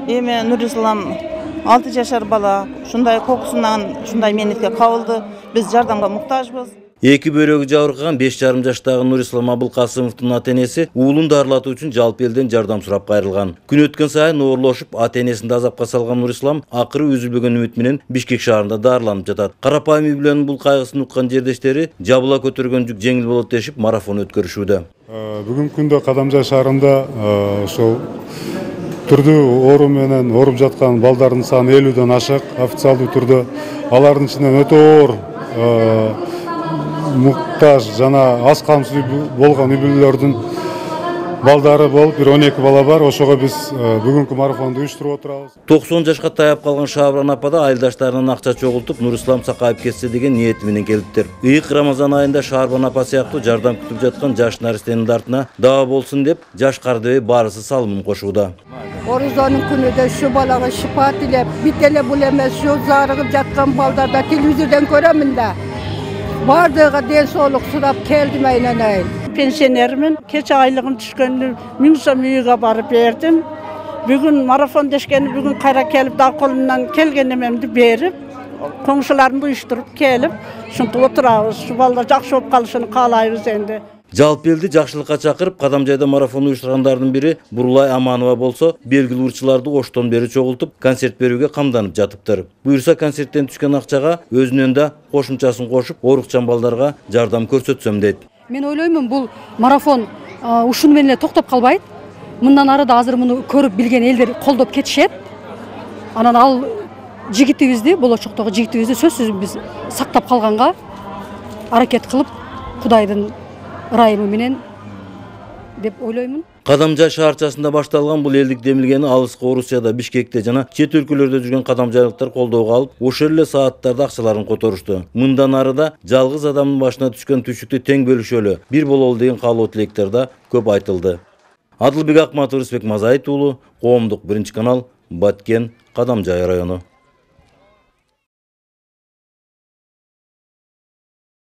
Эми Нурислам 6 жашар бала, ушундай кокусунан ушундай менетке кабылды. Биз жардамга муктажбыз. Эки бөйрөгү жабыркаган 5,5 жаштагы Нурислам Абылкасымовдун ата-энеси уулун дарылатуу үчүн жалпы элден жардам сурап кайрылган. Күн өткөн сайын оорлошуп, ата-энесин азапка салган Нурислам акыры үзүлбөгөн үмүт менен Бишкек шаарында дарыланып жатат. Карапайым үй бүлөнүн бул кайгысын уккан жердештери жабыла көтөргөн жүк жеңил болот дешип марафон өткөрүшүүдө. Бүгүнкү күндө Кадамжай шаарында ошол түрдүү оору менен ооруп жаткан балдардын саны 50ден ашык. Официалдуу түрдө алардын ичинен өтө оор муктаж жана аз камсыз болгон үй бүлөлөрдүн балдары болуп, 12 бала бар. Ошого биз бүгүнкү марафонду уюштуруп отурабыз. 90 жашка таяп калган Шабыран апа да айылдаштарынан акча чогултуп, Нурислам сакайып кетсе деген ниети менен келиптир. Ыйык Рамазан айында Шабыран апа сыяктуу жардам күтүп жаткан жаш наристенин артына даа болсун деп, жаш кардыбей баарысы салымын кошууда. Орузонун күнүдө ушу балага шифа тилеп, бит эле бул эмес, ушу зарыгып жаткан балдарда телевизордон көрөмүн да. Бардыгы ден соолук сурап келдим айнанайын. Пенсионермин. Кече айлыгым түшкөндө 1000 сом үйгө барып бердим. Бүгүн марафон дешкени бүгүн кайра келип да колумдан келген эмемди берип, коңшуларымды уюштуруп келип, ушинтип отурабыз. Ушу балдар жакшы болуп калышын каалайбыз энди. Жалпы элди жакшылыкка чакырып, Кадамжайда марафон уюштургандардын бири Бурулай Аманова болсо, белгилүү урчуларды оштон бери чогултуп, концерт берүүгө камданып жатыптыр. Буюрса концерттен түшкөн акчага өзүнөн да кошумчасын кошуп, оорукчан балдарга жардам көрсөтсөм дейт. Мен ойлоймун, бул марафон ушуну менен эле токтоп калбайт. Мындан ары да азыр муну көрүп билген элдер колдоп кетишет. Анан ал жигитибизди, болочоктогу жигитибизди сөзсүз биз сактап калганга аракет кылып, Кудайдын ырайымы менен деп ойлоймун. Кадамжай шаарчасында башталган бул элдик демилгени алыскы Орусияда, Бишкекте жана чет өлкөлөрдө жүргөн кадамжайлыктар колдоого алып, ошол эле сааттарда акчаларын которушту. Мындан ары да жалгыз адамдын башына түшкөн түшүктү тең бөлүшөлү, бир бололу деген каалоо тилектер да көп айтылды. Адылбек Акматов, Рысбек Мазайыт уулу, Коомдук 1 канал, Баткен, Кадамжай району.